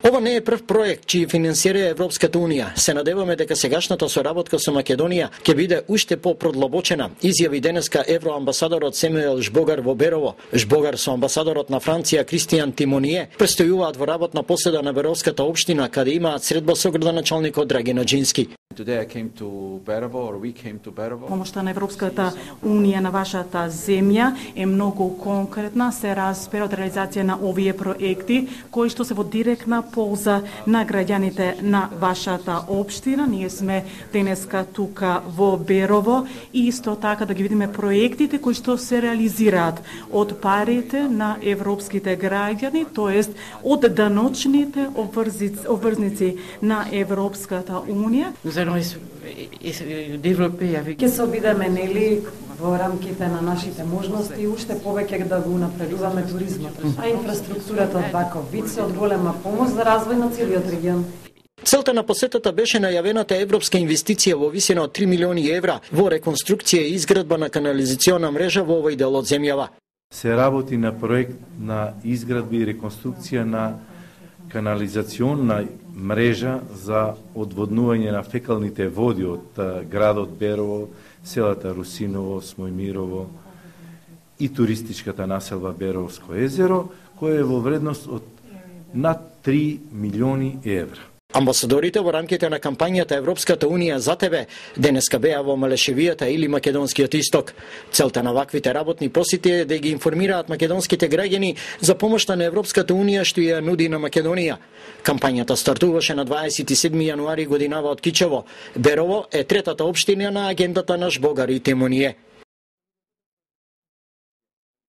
Ова не е прв проект чиј финансира Европската Унија. Се надеваме дека сегашната соработка со Македонија ќе биде уште по-продлабочена, изјави денеска евроамбасадорот Семуел Жбогар во Берово. Жбогар со амбасадорот на Франција Кристијан Тимоние престојуваат во работна поседа на Беровската општина, каде имаат средба со градоначалникот Драги Наџински. Помошта на Европската Унија на вашата земја е многу конкретна, се разбира од реализација на овие проекти кои што се во директна полза на граѓаните на вашата општина. Ние сме денеска тука во Берово и исто така да ги видиме проектите кои што се реализираат од парите на европските граѓани, тоест од даночните обврзници на Европската Унија. Ќе се обидеме нели во рамките на нашите можности уште повеќе да го напредуваме туризмот, а инфраструктурата од ваков вид се од голема помош за развој на целиот регион. Целта на посетата беше најавената европска инвестиција во висина од 3 милиони евра во реконструкција и изградба на канализациона мрежа во овој дел од земјава. Се работи на проект на изградба и реконструкција на канализациона мрежа за одводнување на фекалните води од градот Берово, селата Русиново, Смојмирово и туристичката населба Беровско езеро, која е во вредност од над 3 милиони евра. Амбасадорите во рамките на кампањата Европската Унија за тебе денеска беа во Малешевијата или Македонскиот исток. Целта на ваквите работни посети е да ги информираат македонските граѓани за помошта на Европската Унија што ја нуди на Македонија. Кампањата стартуваше на 27 јануари годинава од Кичево. Берово е третата општина на агендата на Жбогар и Тимоние.